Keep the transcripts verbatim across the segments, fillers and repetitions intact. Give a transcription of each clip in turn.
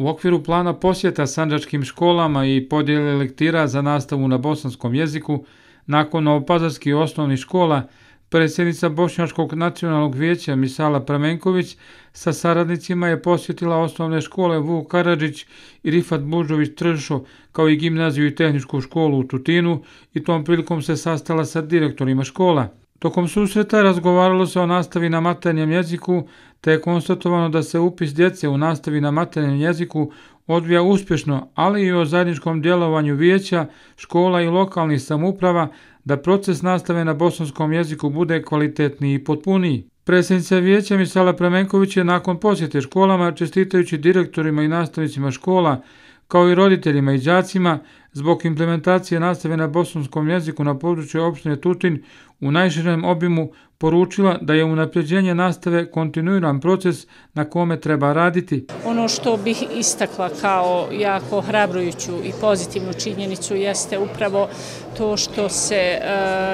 U okviru plana posjeta sandžačkim školama i podjele lektira za nastavu na bosanskom jeziku, nakon novopazarskih osnovnih škola, predsjednica Bošnjačkog nacionalnog vijeća Misala Pramenković sa saradnicima je posjetila osnovne škole Vuk Karadžić i Rifat Bužović Tršo, kao i gimnaziju i tehničku školu u Tutinu, i tom prilikom se sastala sa direktorima škola. Tokom susreta razgovaralo se o nastavi na maternjem jeziku, te je konstatovano da se upis djece u nastavi na maternjem jeziku odvija uspješno, ali i o zajedničkom djelovanju vijeća, škola i lokalnih samouprava da proces nastave na bosanskom jeziku bude kvalitetniji i potpuniji. Predsjednica vijeća Misala Pramenković je nakon posjete školama, čestitajući direktorima i nastavnicima škola, kao i roditeljima i đacima, zbog implementacije nastave na bosanskom jeziku na području opštine Tutin u najširem obimu, poručila da je unapređenje nastave kontinuiran proces na kome treba raditi. Ono što bih istakla kao jako hrabrujuću i pozitivnu činjenicu jeste upravo to što se e,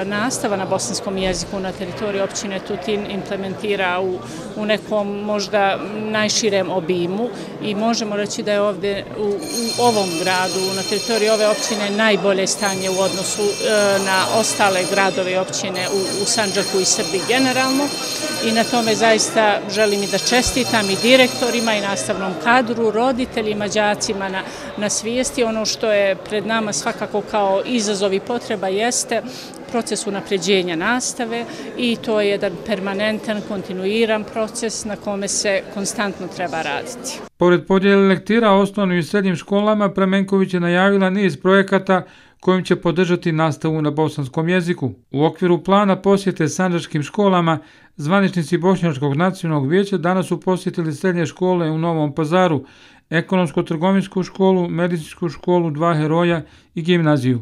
nastava na bosanskom jeziku na teritoriji općine Tutin implementira u, u nekom možda najširem obimu i možemo reći da je ovdje u, u ovom gradu, na teritoriji ove općine, najbolje stanje u odnosu e, na ostale gradove i općine u, u Sandžaku i Srbiji generalno, i na tome zaista želim i da čestitam i direktorima i nastavnom kadru, roditeljima, đacima na, na svijesti. Ono što je pred nama svakako kao izazov i potreba jeste proces unapređenja nastave i to je jedan permanentan, kontinuiran proces na kome se konstantno treba raditi. Pored podjele lektira osnovnim i srednjim školama, Pramenković je najavila niz projekata kojim će podržati nastavu na bosanskom jeziku. U okviru plana posjete sandžačkim školama, zvaničnici Bošnjačkog nacionalnog vijeća danas su posjetili srednje škole u Novom Pazaru, ekonomsko-trgovinsku školu, medicinsku školu Dva heroja i gimnaziju.